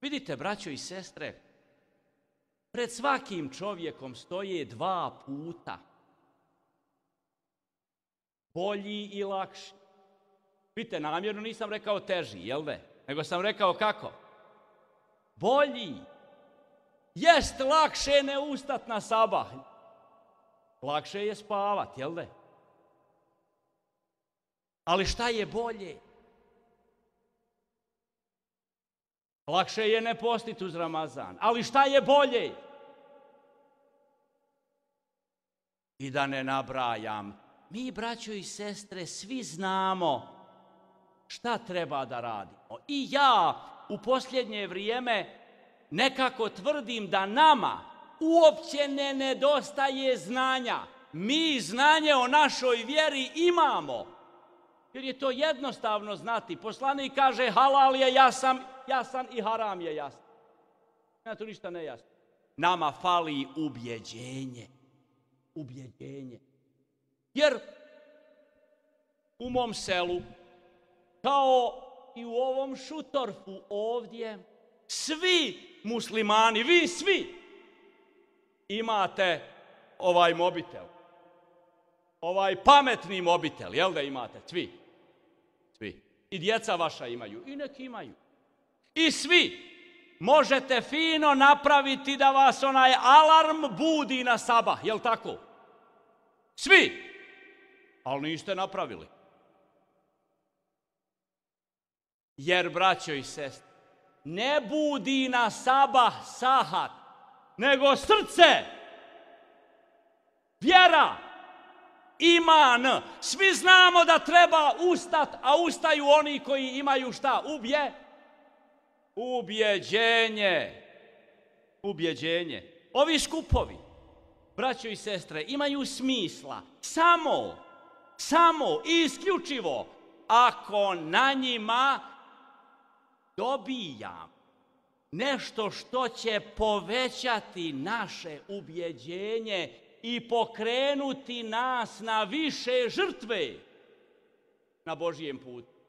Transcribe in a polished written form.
Vidite, braćo i sestre, pred svakim čovjekom stoje dva puta. Bolji i lakši. Vidite, namjerno nisam rekao teži, jel da? Nego sam rekao kako? Bolji. Jest lakše ne ustat na sabah. Lakše je spavat, jel da? Ali šta je bolje? Lakše je ne postiti uz Ramazan. Ali šta je bolje? I da ne nabrajam. Mi, braćo i sestre, svi znamo šta treba da radimo. I ja u posljednje vrijeme nekako tvrdim da nama uopće ne nedostaje znanja. Mi znanje o našoj vjeri imamo. Jer je to jednostavno znati. Poslanik kaže halal je jasan i haram je jasan. Nema tu ništa nejasno. Nama fali ubjeđenje. Ubjeđenje. Jer u mom selu, kao i u ovom Šutorfu ovdje, svi muslimani, vi svi, imate ovaj mobitel. Ovaj pametni mobitel, jel da imate? Svi. Svi. I djeca vaša imaju. I neki imaju. I svi možete fino napraviti da vas onaj alarm budi na sabah, jel tako? Svi. Ali niste napravili. Jer, braćo i sestre, ne budi na sabah sahat, nego srce, vjera, iman. Svi znamo da treba ustat, a ustaju oni koji imaju šta? Ubjeđenje. Ubjeđenje. Ovi skupovi, braćo i sestre, imaju smisla samo i isključivo ako na njima dobijam nešto što će povećati naše ubjeđenje i pokrenuti nas na više žrtve na Božijem putu.